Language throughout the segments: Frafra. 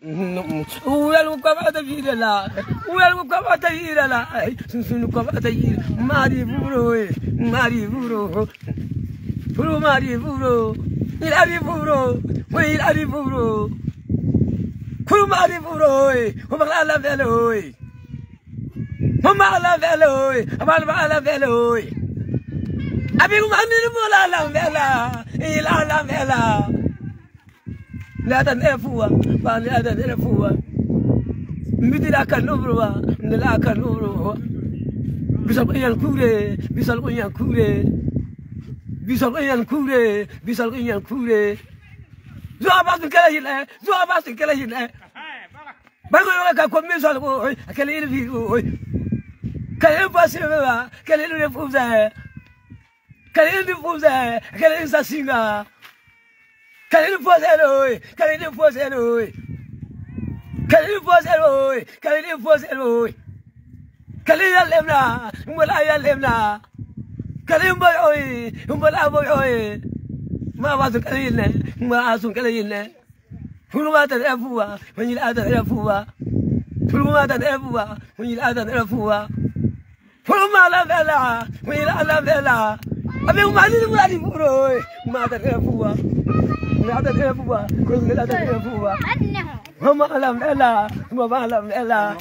Uwel ko ata vira la. Uwel ko ata vira la. Sun ko ata vira. Mari buro. Mari buro. Buro mari buro. Ilari buro. Ilari buro. Kuru mari buro. Mama la velo. Mama la velo. Mama la velo. Abi mami mola la vela. Ila la vela. La tan efua, ba la tan efua. Midira kan ubruwa, nela kan ubruwa. Bisal yan kure, bisal yan kure. Bisal yan kure, bisal yan kure. Zo abas kala hile, zo abas kala hile. Bago yo ka ko misal ko, kala hile vi ko. Kala basi ba, kala hile fuza. Kala hile fuza, kala hile sasinga. Kali fozero, kali fozero. Kali fozero, kali fozero. Kali ya lemna, umala ya lemna. Kali boy, umala boy. Ma wasu kali ne, ma asu kali ne. Fuluma ta efuwa, wani la ta efuwa. Fuluma ta efuwa, wani la ta efuwa. Fuluma la vela, wani la vela. Abi umani ni buro, ma ta efuwa. Ada tefuwa, kung ada tefuwa. Mama alam ela, mama alam ela.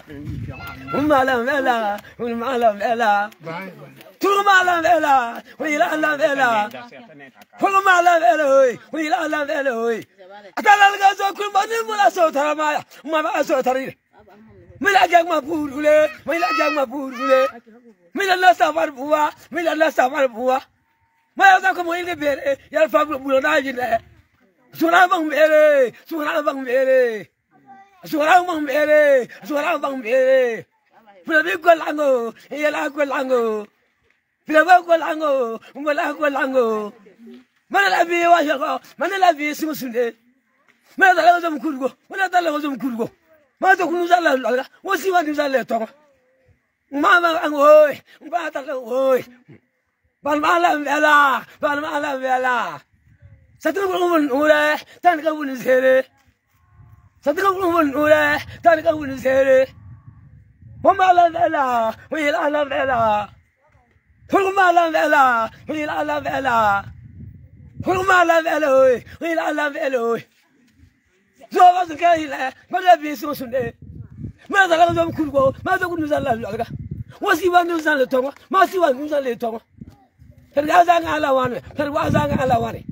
Mama alam ela, mama alam ela. Tuma alam ela, wila alam ela. Mama alam ela, wila alam ela. Atala laga so kun bani mula so tarama, mama so tari. Mila jag ma purule, mila jag ma purule. Mila nasta par buwa, mila nasta par buwa. Maya sa ko mo ile bere, yal fa bulo na jine. Suara bang bere, suara bang bere, suara bang bere, suara bang bere. Bila biko lango, iyalah ko lango. Bila biko lango, umala ko lango. Mana labi wajako, mana labi simusunde. Mana talaga jam kurgo, mana talaga jam kurgo. Mana to kunu zala laga, wasi wani zala tonga. Mama angoy, mama talaga oy. Balmalam bela, balmalam bela. Satu kawan ure, tan kawan sere. Satu kawan ure, tan kawan sere. Mama la vela, we la vela. Mama la vela, we la vela. Mama la vela, we la vela. So was kaila, mana bisu sunde. Mana dalam jam kurgo, mana kunu zala laga. Wasi wanu zala tonga, masi wanu zala tonga. Tergazang ala wane, tergazang ala wane.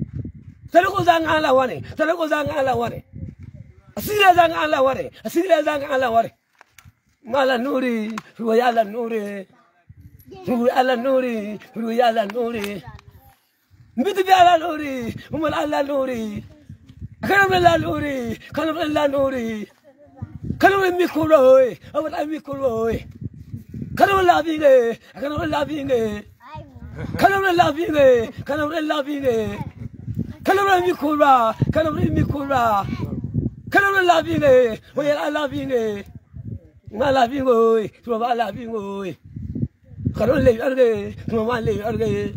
Terus zang ala wane, terus zang ala wane. Asira zang ala wane, asira zang ala wane. Mala nuri, ruya nuri, ruya nuri, ruya nuri. Bitu biala nuri, umal ala nuri. Kalam la nuri, kalam la nuri. Kalam mikuroi, awal mikuroi. Kalam la binge, kalam la binge. Kalam la binge, kalam la binge. Kalam mikura, kalam mikura. Kalam la binge, we la binge. Mala bingo, tuwa la bingo. Kalam le arge, tuwa le arge.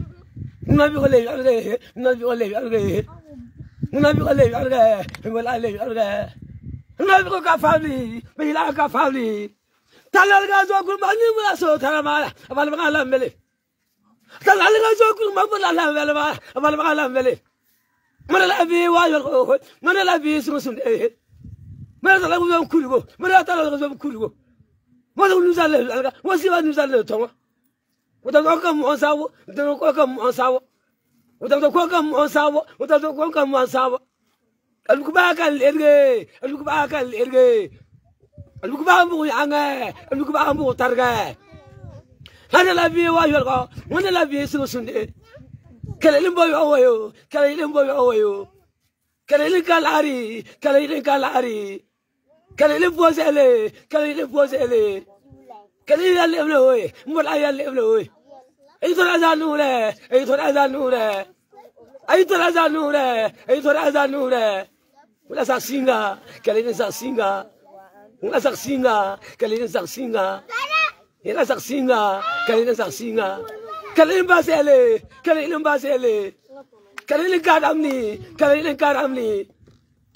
Nabi ko le arge, nabi ko le arge. Nabi ko le arge, wala le arge. Nabi ko ka family, bila ka family. Talal ga zo ku mani mula so tarama, abal mala mele. Talal ga zo ku mabula la mele ba, abal mala mele. Mana la bi wa yo, mana la bi sunde. Mana la go kuligo, mana ta la go kuligo. Mana nu zale, wasi wa nu zale tonga. Uta ko kam on sawo, uta ko kam on sawo. Uta ko kam on sawo, uta ko kam on sawo. Alu ba kan erge, alu ba kan erge. Alu ba mu yanga, alu ba mu targa. Mana la bi wa yo ko, mana la bi sunde. Kalilim boy awayo, kalilim boy awayo. Kalilim kalari, kalilim kalari. Kalilim posele, kalilim posele. Kalilim lebloy, mula ya lebloy. Itu raza nure, itu raza nure. Itu raza nure, itu raza nure. Mula saksinga, kalilim saksinga. Mula saksinga, kalilim saksinga. Ila saksinga, kalilim saksinga. Kalilim basele, kalilim basele. Kalilim karamni, kalilim karamni.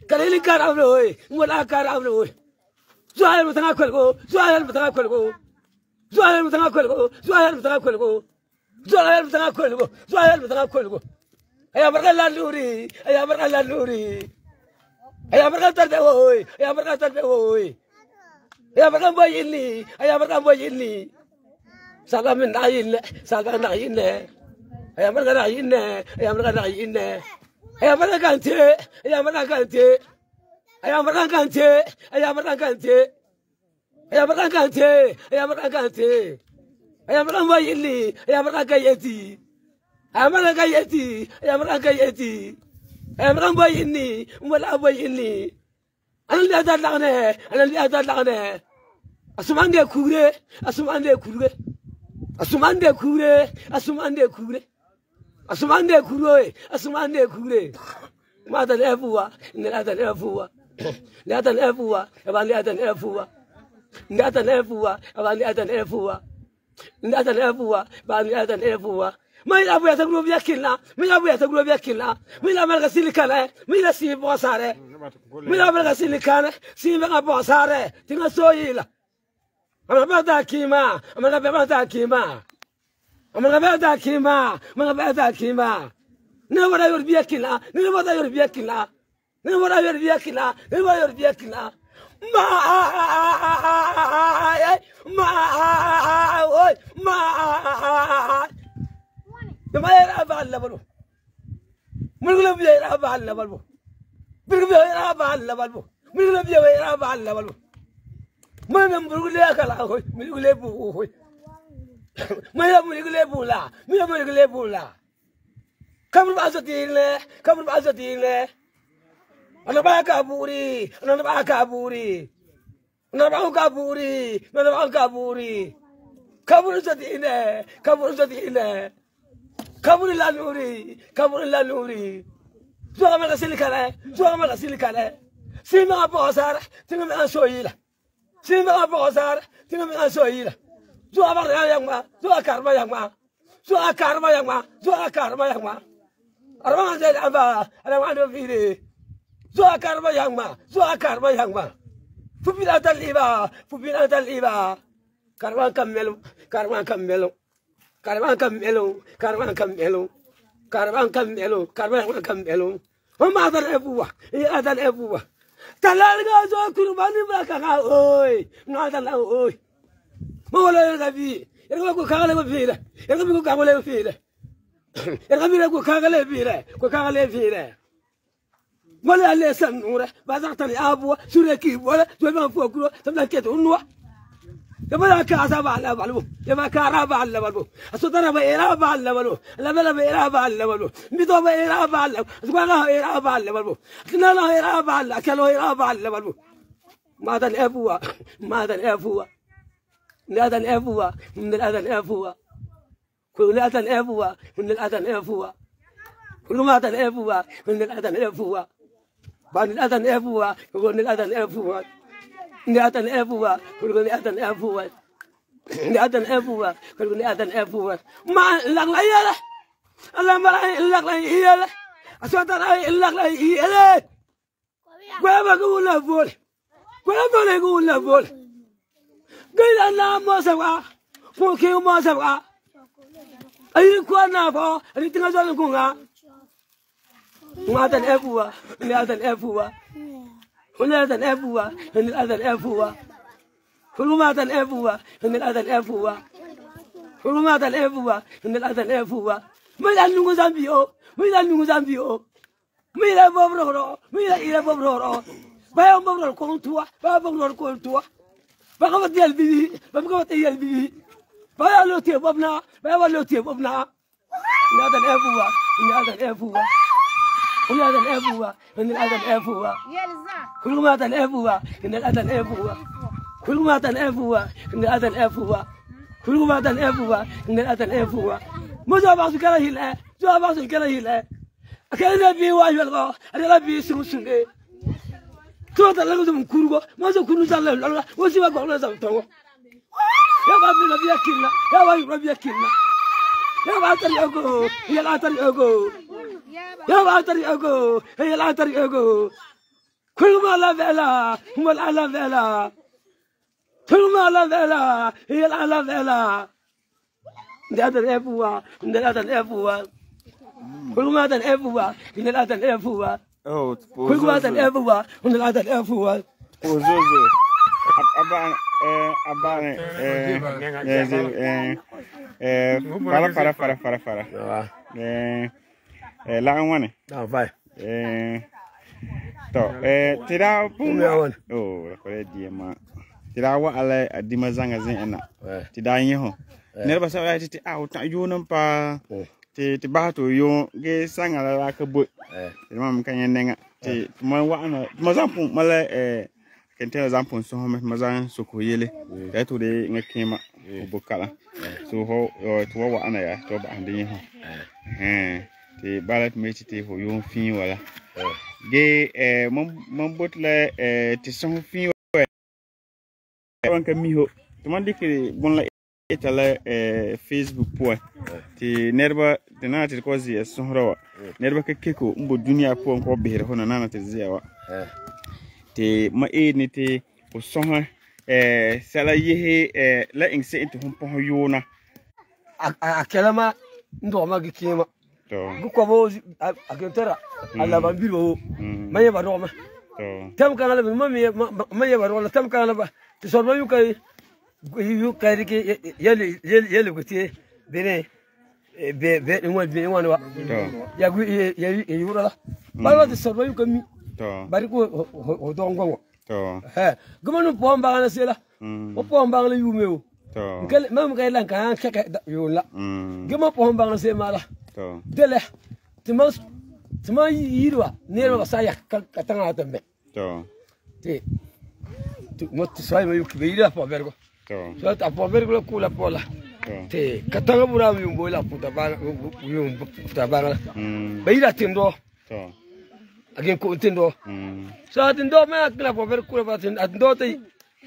Kalili karamlo, mola karamlo. Zuhal mutanga kolgo, Zuhal mutanga kolgo. Zuhal mutanga kolgo, Zuhal mutanga kolgo. Zuhal mutanga kolgo, Zuhal mutanga kolgo. Ayah berkala luri, ayah berkala luri. Ayah berkala terbe woi, ayah berkala terbe woi. Ayah berkala boy ini, ayah berkala boy ini. Saga min nayin, saga nayin. Ayah berkala nayin, ayah berkala nayin. Ayah berkala ganti, ayah berkala ganti. Ayah berkala ganti, ayah berkala ganti. Ayah berkala ganti, ayah berkala ganti. Ayah berkala boy ini, ayah berkala gayeti. Ayah berkala gayeti, ayah berkala gayeti. Ayah berkala boy ini, umala boy ini. Anak dia tak lagne, anak dia tak lagne. Asumande kure, asumande kure. Asumande kure, asumande kure. Asumande kure, asumande kure. Mata lefuwa, nilata lefuwa. Nilata lefuwa, abang nilata lefuwa. Nilata lefuwa, abang nilata lefuwa. Nilata lefuwa, abang nilata lefuwa. Mila buya ta grubi yakilla, mila buya ta grubi yakilla. Mila malga silikane, mila si bosare. Mila malga silikane, si malga bosare. Tinga soyila. Amana bata kima, amana bata kima. Amana bata kima, amana bata kima. Ne wada yor biyakila, ne wada yor biyakila. Ne wada yor biyakila, ne wada yor biyakila. Ma oi ma ma era balla balu. Mulgula biya era balla balu. Mulgula era balla balu. Mulgula biya era balla balu. Mana mulgula kala hoy, mulgula bu hoy. Mana mulgula bula, mana mulgula bula. Kamu basatile, kamu basatile. Ana ba kaburi, ana ba kaburi. Ana ba kaburi, ana ba kaburi. Kabur satile, kabur satile. Kabur la nuri, kabur la nuri. Zuwa mala silikale, zuwa mala silikale. Sima bosar, tinga me soyila. Sima bosar, tinga me soyila. Zuwa ba yangma, zuwa karma yangma. Zuwa karma yangma, zuwa karma yangma. Arwana zai amba, arwana vire. Zuwa karma yangma, zuwa karma yangma. Fupina taliba, fupina taliba. Karma kamelo, karma kamelo. Karma kamelo, karma kamelo. Karma kamelo, karma kamelo. Mama dan ebuwa, ya dan ebuwa. Talalga zo kurbani bakaka oi, ngada la oi. Mola gabi, ergo ko kagale bifire, ergo ko kagale bifire. Ergo ko kagale bifire, ko kagale bifire. Mola le sanura, bazartani abwa, sureki wala, tuba fokuro, tabla keto unwa. يبغى كاسة على بالو يبغى كارا على بالو أصدر بيرا على بالو لا بلا بيرا على بالو ميتو بيرا على سبحانه بيرا على بالو كنا لا بيرا على كلو بيرا على بالو ماذا الأبوة ماذا الأبوة ماذا الأبوة من الأذى الأبوة كل الأذى الأبوة من الأذى الأبوة كل ماذا الأبوة من الأذى الأبوة بعد الأذى الأبوة يقول الأذى الأبوة Niatan everywhere, we're going to niatan everywhere. Niatan everywhere, we're going to niatan everywhere. Ma lang layala, alam malay lang layala. Aswatan ay lang layala. Kaya mag-uula bol, kaya mag-uula bol. Kaya na mo sa ka, puki mo sa ka. Ay ko na po, ay tingasan ko nga. Niatan everywhere, niatan everywhere. Niatan everywhere, niatan everywhere. Niatan everywhere, niatan everywhere. Niatan everywhere, niatan everywhere. Mila nungu zambio, mila nungu zambio. Mila bobroro, mila ira bobroro. Baya bobroro kontua, baya bobroro kontua. Baka mati albibi, baka mati albibi. Baya lotie bobna, baya lotie bobna. Niatan everywhere, niatan everywhere. Niatan everywhere, niatan everywhere. كل ما تنأفوا إن الأذن أفوا كل ما تنأفوا إن الأذن أفوا كل ما تنأفوا إن الأذن أفوا ماذا بعض كله لا ماذا بعض كله لا أكيد نبي واجب الله أنا نبي سمسنة تو تلاقوا من كوربا ماذا كنوا زالوا الله وسيبا قولنا زمتوا يا بعض نبي أكلنا يا بعض نبي أكلنا يا بعض تريقو يا لا تريقو يا بعض تريقو يا لا تريقو Kulma la vela, mal ala vela. Kulma la vela, il ala vela. Ndatan efuwa, ndatan efuwa. Kulma tan efuwa, ndatan efuwa. Oh, Kulma tan efuwa, ndatan efuwa. Ozozo. Fara. La wane. Ah, vai. Tira kore diema. Tira wa ala adima zanga zena. Tira nyeho. Nerba sa ti ta yonam pa. Ti bato yo ge sanga la ka bo. Mam kan yenenga. Ti ma wa ana ma zampu mala kente zampu so ho ma zan so ko yele. Da to de ngakema bokala. So ho to wa ana ya to ba ande nyeho. Ti balat me ti ho yo fin wala. Ge mon botla ti son fin wanka miho to man dikri bon la etala Facebook po ti nerba tenati ko zi son rawa nerba ke keko mbo dunia po ko behre hono nana te ziawa ti ma ni ti o son sala yehe la ingse into hon po yona akelama ndo ma gikema to ko bo agentera ala bambiro maye ba do ma tam kana ma maye ba do tam kana ba ti sorba yu kai ke yele gutie bene be ngwan wa ya gu ya yura la ba ti sorba yu kami to bari ko ho dongo to gumanu po mba na sela o po mba la yu meu to ngel mam kai lan kan ka yu la gumo po mba na se mala to dele tuma yirwa nero ba saya ka tanga tambe to ti mo ti sai mai ku beira po vergo to so ta po vergo kula pola ti ka tanga bura mi umbo la puta ba yum puta ba beira tindo to again ko tindo so tindo ma kula po vergo kula ba tindo ti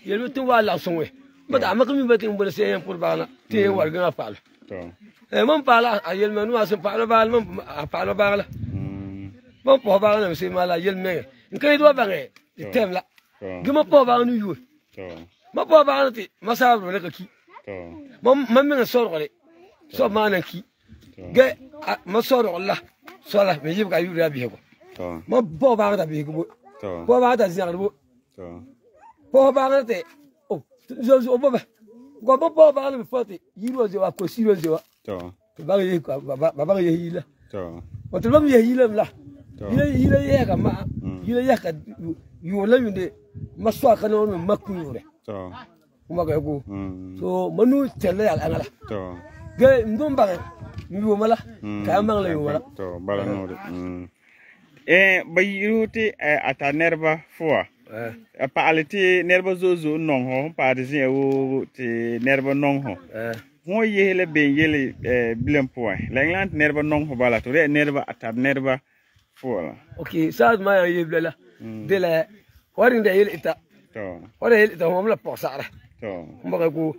yelu tu wala sonwe ba da ma kami ba tin bo se yan pur ba na ti warga fa to mon pala ayel menu asen pala bal mon pala bala mon po bala se mala yel me nkai do bange temla gima po bala nu yu ma po bala ti masabro le ki mon men so role so manan ki ge ma so role so la me yib ka yu ya bi ko ma po bala da bi ko po bala da ziar bo po bala te o zo bo ba go po bala bi foti yiro je wa ko siro je wa baba ye hila o to baba ye hila la hila ye ka ma hila ye ka yo la yunde maswa ka no makku yore kuma ga ko so manu tele al angala ge ndum ba yo mala ka mang la yo mala to bala no bayiruti ata nerba fo pa aliti nerba zozo non ho pa de wo ti nerba non ho mo yele be yele bilem point la england nerba non ho bala to nerba atab nerba fola okay sad ma yeblela de la warin de yele ita to wara yele ita mo la posara to mbaga ko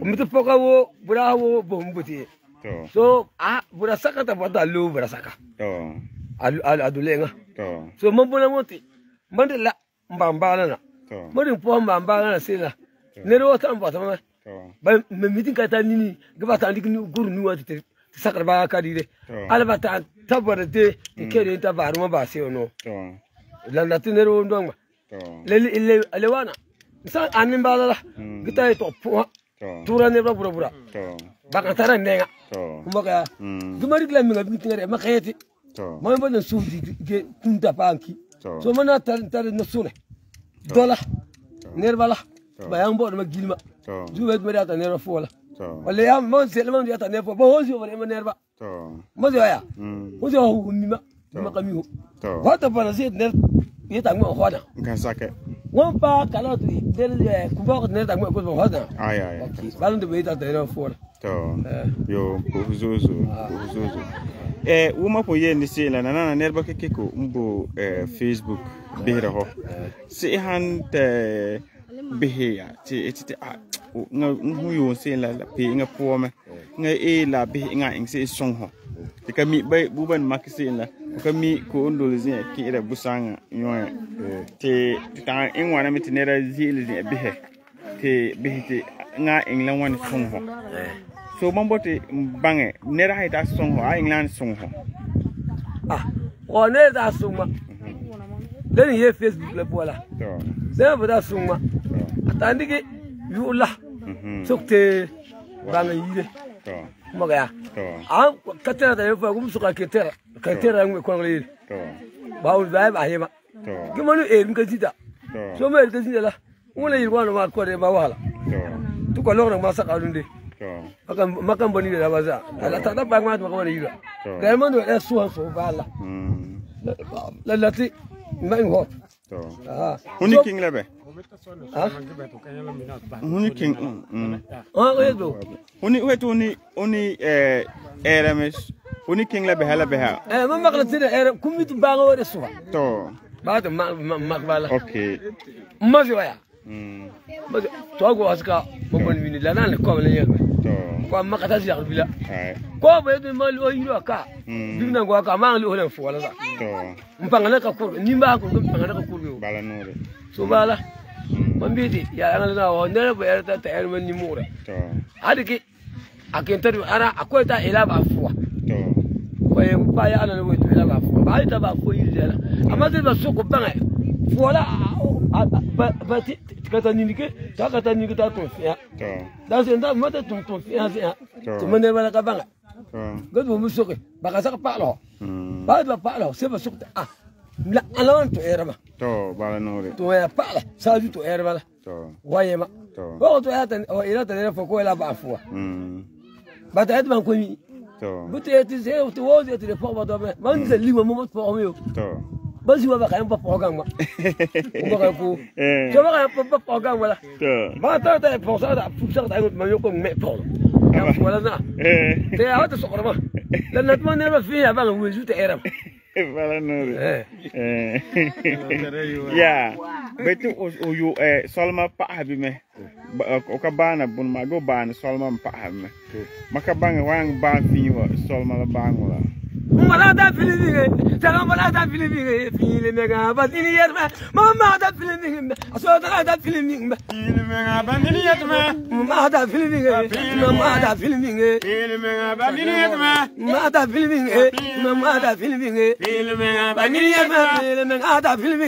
mitu poka wo bura wo bombuti to so bura saka ta bada lu bura saka to adulenga to so mambona moti mandela mbambala na to modin po mbambala na sila nero ta mbata ma ba mitin ka ta nini gaba ta ndik guru ni wati te sakar ba ka dire alba ta tabara de kere ta baru ma ba se ono la na tinero ndonga le alewana sa anin ba la gita to po tura ne ba bura ba ka tara nenga kuma ka gumari la mi ngabi tingere ma khayati ma ba na suudi ge kunta panki so mana tar na sune dola nerbala bayang bo ma gilma juwet ma data nerba fola wala ya mon selman data nerba bo hozi wala ma nerba mo ya mo zo humima ma kamiho wata bana zet ner yeta ngwa hoda kan sake won pa kala tu del ku bo ner ta ngwa ko hoda ay balan de beta nerba fola yo buzuzu wuma po yen si la nana nerba keko mbo Facebook bihra ho si han te bihya ti nga huyo si la pe nga pome nga la bi nga ing si song ho ti ka mi bay buban makisi la kami ko ndol zin kira busanga nyoya te ta in wana mi tinera zil zin bihe te bihe nga england wan songho so mambote bange nera haita songho a england songho o ne da songma dan ye facebook la bola da bada songma atandike yula sokte bange yire magaya an katera da yofa gum suka katera ngwe ko ngeli bawo ba hema gimanu nka sida so me nka sida la wala yirwana ma ko de ba wala tu ko lorna ma saka dunde makan bani da baza ala ta da ba ma ko wala yira da man do da so bala la lati mai ho huni king lebe huni king wedo huni wetu huni erames huni king lebe hala beha man makla tida era kumitu banga wada suwa to ba ta makbala okay mazi waya to go aska mo mini la nan ko la yelbe ko makata si bila ko ba yedo mal o yiro ka digna go ka ma ngali o len fo wala sa mpangana ka ko ni ba ko mpangana ka ko bala nore so bala mambiti ya ngala na o ndere ba erta ta erman ni mure adiki akentar ara akwai ta ila ba fo ko e pa ya na no ila ba fo ba ita ba fo yiri la amma de ba so ko banga fo la ba ti kata ninike ta kata ninike ta to fiya da se nda mata to fiya fiya to mane bala ka banga gado mu so ke ba ka saka pa lo ba pa lo se ba so la alon to era ba to bala nore to ya pa la sa ju to era bala to waye ma ko to ya ta o ila ta ne fo ko ila ba fo ba ta edman ko mi to bute ti se to wo ti de fo ba do ba man se li mo mo fo mi to ba si wa ba kan pa program ma ba ka ko so ba ka pa program wala to ba ta ta fo sa da fu sa da ma yo ko me to wala na te ya ta so ko ma la na ma ne ba fi ya ba ko ju te era Bala nore ya betu o yo solma pa habi me o ka bana bun ma go bana solma pa habi me maka banga wang ban fi wa solma la bangula mala da filimi tala mala da filimi fili mega batini yerma mama da filimi aso da filimi fili mega batini yerma mama da filimi mama da filimi fili mega batini yerma mama da filimi mama da filimi fili mega batini yerma fili mega da filimi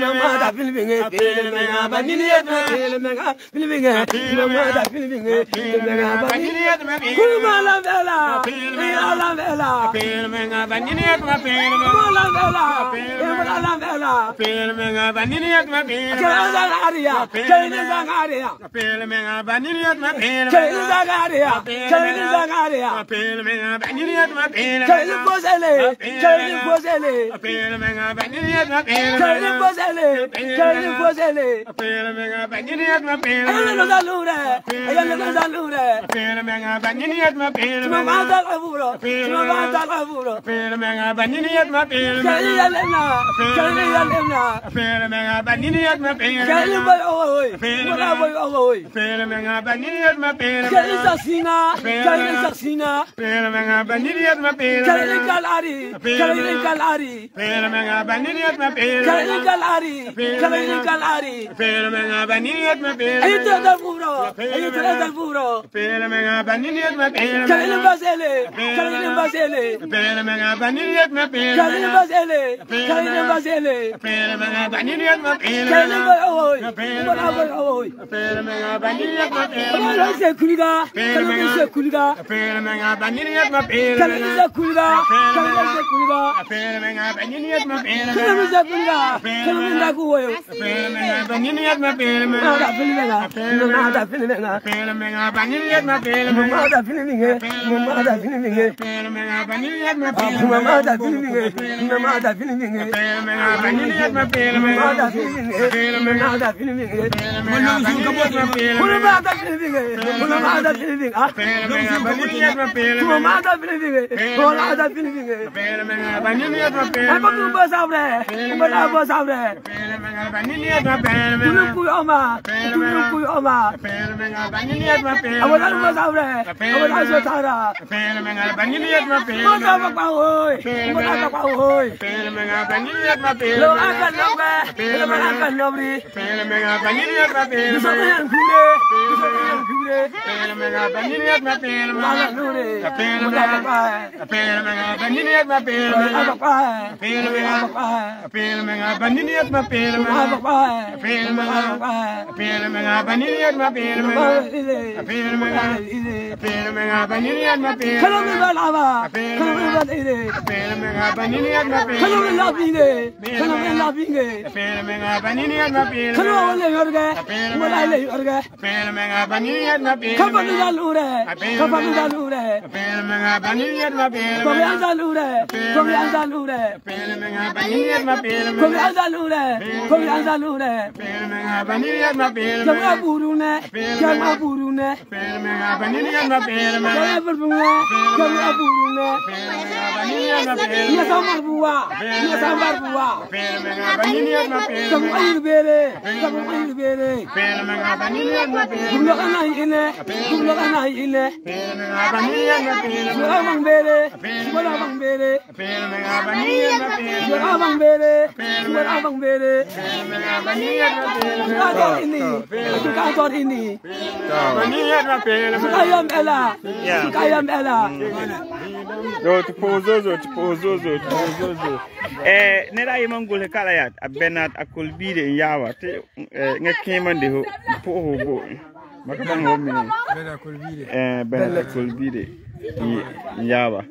mama da filimi fili mega batini yerma fili mega filimi mama da filimi fili mega batini yerma kuma la vela la vela menga banini ma pele la vela pele menga banini ma pele zagaria pele zagaria pele menga banini ma pele zagaria pele menga banini ma pele posele pele menga banini ma pele posele pele menga banini ma pele ayana dalure pele menga banini ma pele ma dalure pele menga banini ma pele kaya lemna pele menga banini ma pele kaya boy oi pele menga banini ma pele kaya saksina pele menga banini ma pele kaya kalari pele menga banini ma pele kaya kalari pele menga banini ma pele ayuda dal furo pele menga banini ma pele kaya basele pele menga banini ma pele kaya basele pele menga banini ma pele kaya boy pele menga banini ma pele wala se kuliga pele menga banini ma pele kaya kuliga pele menga banini ma pele kaya ku woyo pele menga banini ma pele ada filmenga pele menga banini ma pele ada filmenga pele menga banini ma pele ada filmenga pele menga banini ma pele ada filmenga ada filmenga oi. Mata oi. Pele menga baniyat ma pele. Lo akan nombe. Lo akan nobri. Pele menga baniyat ma pele. Sokan kure. Sokan kure. Pele menga baniyat ma pele. Mala nure. Pele menga baniyat ma pele. Pele menga baniyat ma pele. Pele menga baniyat ma pele. Pele menga baniyat ma pele. Kalau melaba. Kalau melaba. Pele menga baniyat ma pele. Kalau melabine. Kalau melabine. Pele menga baniyat ma pele. Kalau wale yorga. Wale yorga. Pele menga baniyat ma pele. Kapan dalure. Kapan dalure. Pele menga baniyat ma pele. Kapan dalure. Kapan dalure. Pele menga baniyat ma pele. Kapan dalure. Kapan dalure. Pele menga baniyat ma pele. Jangan burune. Jangan burune. Pele menga baniyat ma pele. Jangan burune. Jangan burune. Pele menga baniyat ma pele. Ia sambar buah. Ia sambar buah. Pele menga baniyat ma pele. Kamu air bere. Kamu air bere. Pele menga baniyat ma pele. Gulok anai ini. Gulok anai ini. Pele menga baniyat ma pele. Suara bang bere. Suara bang bere. Pele menga baniyat ma pele. Suara bang bere. Suara bang bere. Pele menga baniyat ma pele. Kantor ini. Kantor ini. Baniyat ma pele. Ayam Ella. Ayam Ella. Yo tipozozo. Nera yimang gule kala ya abenat akul bide yawa te ngakeman de ho po bo. Maka bang ho mini. Benat akul bide yawa.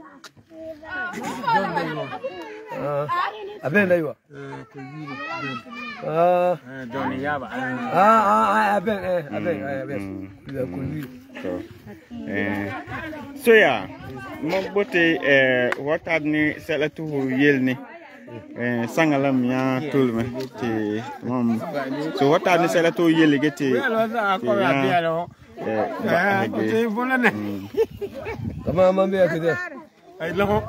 Aben ayo. Doni yawa. Aben. So ya mo bote watad ni selatu yelni sangalam ya tulme ti mom so watad ni selatu yeli geti Kama mambe akide. ay lako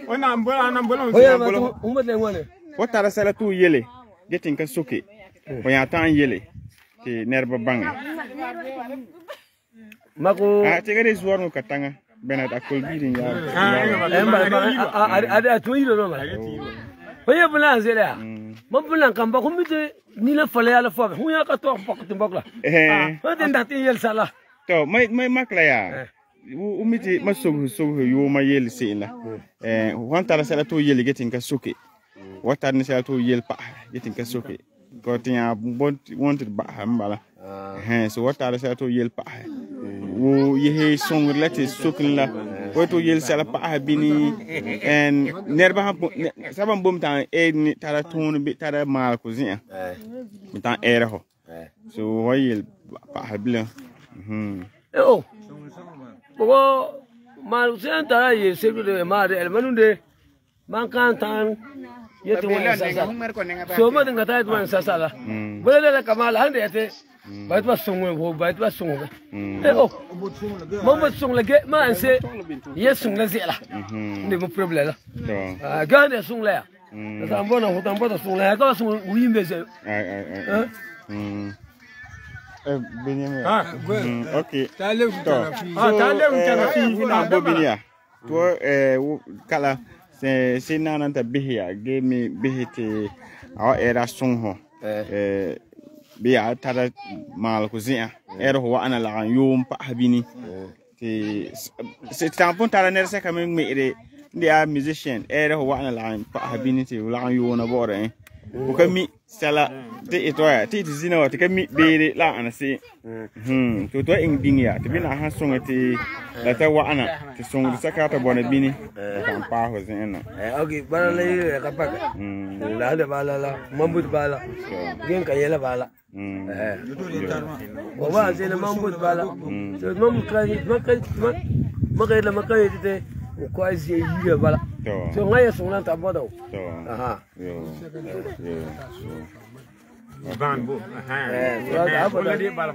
ona ambola Umat lengwane. watad selatu yeli geti kan suki o ya tan yeli ti nerba bangi Mako tegere zuwar mo katanga benat akol bidin ya ada tuiro no ma. Oye bulan zela. Mo bulan kan ba kumite ni la fale ala fo. Huya ka to pak timbok la. Ho den dati yel sala. To may makla ya. Umiti masugu yo ma yel sila. Wanta sala to yel getin ka suki. Wata ni sala to yel pa getin ka suki. Ko tinya wanted ba hambala. So wata sala to yel pa. Wo yehe song lati sukin la wato yel sala pa bini en nerba ha saban bom tan ni tara ton bi tara mal ko zin tan era ho so wayel pa bla bogo mal sen tara ye segu de ma de el manunde man kan tan yete wona sasa so ma dinga ta tuan sasa la bole la kamal hande ate bait ba songo ho bait ba songo mama song lagi ma anse ye song la zela ni mo problème la gane song la tambona ho tambona song la ka song wi mbeze okay talew kana fi na bobinia to kala se nana ta bihia ge mi bihite a era song ho biya tara mal ko zia ero wa ana la yum pa habini ti se tampon tara ner se kamen mere dia musician ero wa ana la pa habini ti la yuna bore ko kami sala ti itoya ti zina wa ti kami bere la ana se to ing dingia ti bina ha songa ti la ta wa ana ti songa saka ta bona bini kan pa ho zina okay bala le ka pa la de bala la mambut bala gen ka yela bala Wah, saya nak mampu bala. So mampu makai itu kuai sih bala. So ngaya sungan tak bodoh. Aha. Ban bu. Apa tadi bala?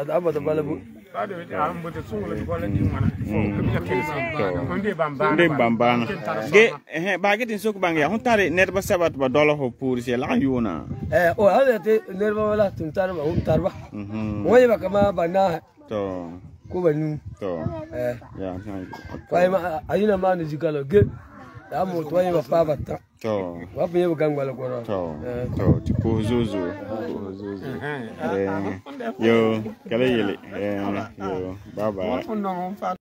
Apa tu bala bu? Ndem bambana ge bagetin sok bangya huntare nerba sabat ba dolo ho puri se la yuna hada te nerba wala tuntar ba huntar ba oye ba kama bana to ko ba nu to ya pai ma ayina ma ni jikalo ge da mo to yin ba pa ba ta to wa pe ba gang bala ko to ko zuzu yo kala yele yo bye bye